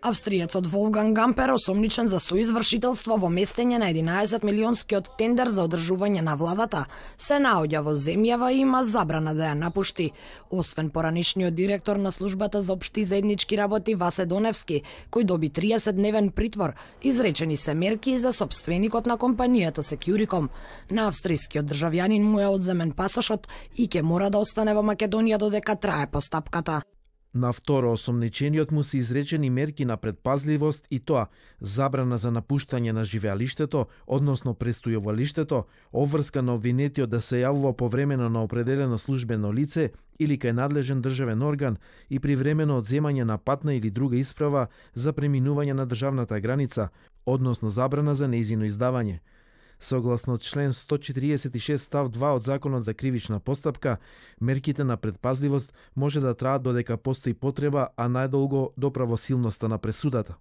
Австриецот Волфганг Гампер осомничен за соизвршителство во местење на 11 милионскиот тендер за одржување на владата, се наоѓа во земјава и има забрана да ја напушти. Освен поранишниот директор на службата за општи заеднички работи Васе Доневски, кој доби 30-дневен притвор, изречени се мерки за сопственикот на компанијата Securicom. На австрискиот државјанин му е одземен пасошот и ќе мора да остане во Македонија додека трае постапката. На второ осомничениот му се изречени мерки на предпазливост и тоа забрана за напуштање на живеалиштето, односно престојувалиштето, обврска на обвинетиот да се јавува повремено на определено службено лице или кај надлежен државен орган и привремено одземање на патна или друга исправа за преминување на државната граница, односно забрана за нејзино издавање. Согласно член 146 став 2 од Законот за кривична постапка, мерките на предпазливост може да траат додека постои потреба, а најдолго до правосилноста на пресудата.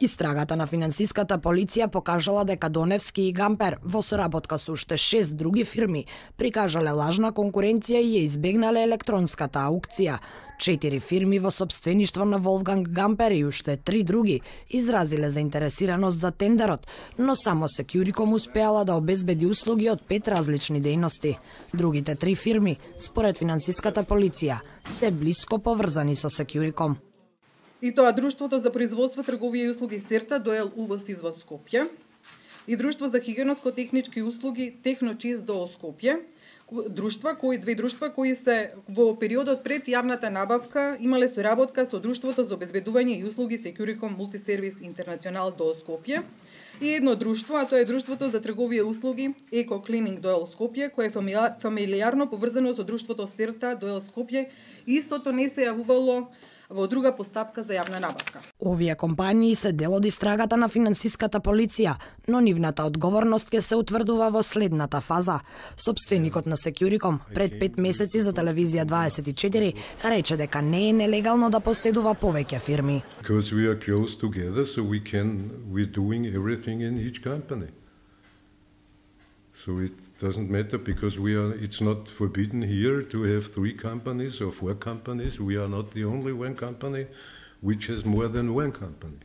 Истрагата на финансиската полиција покажала дека Доневски и Гампер во соработка со уште 6 други фирми прикажале лажна конкуренција и ја избегнале електронската аукција. 4 фирми во сопствеништво на Волфганг Гампер и уште 3 други изразиле заинтересираност за тендерот, но само Securicom успеала да обезбеди услуги од 5 различни дејности. Другите 3 фирми, според финансиската полиција, се блиско поврзани со Securicom. И тоа Друштвото за производство, трговија и услуги Серта, ДОЕЛ УВОЗ извоз Скопје, и Друштво за хигиенско-технички услуги Техночист ДОО Скопје, две друштва кои се во периодот пред јавната набавка имале соработка со Друштвото за обезбедување и услуги Securicom Multiservice International ДОО Скопје, и едно друштво, а тоа е Друштвото за трговија и услуги Еко Клининг ДОЕЛ Скопје, кое е фамилиарно поврзано со Друштвото Серта ДОЕЛ Скопје, и истото не се јавувало во друга постапка за јавна набавка. Овие компании се дел од истрагата на финансиската полиција, но нивната одговорност ќе се утврдува во следната фаза. Сопственикот на Securicom пред 5 месеци за телевизија 24 рече дека не е нелегално да поседува повеќе фирми. Because we are close together, so we're doing everything in each company. So it doesn't matter because it's not forbidden here to have 3 companies or 4 companies. We are not the only one company which has more than one company.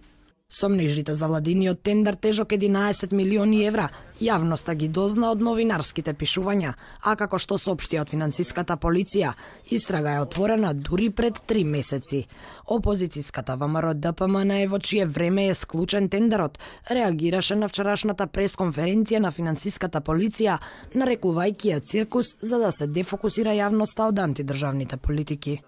Сомнежите за владиниот тендер тежок 11 милиони евра јавноста ги дозна од новинарските пишувања, а како што соопшти од финансиската полиција, истрага е отворена дури пред 3 месеци. Опозицијската ВМРО ДПМН, во чие време е склучен тендерот, реагираше на вчерашната пресконференција на финансиската полиција, нарекувајќи ја циркус за да се дефокусира јавноста од антидржавните политики.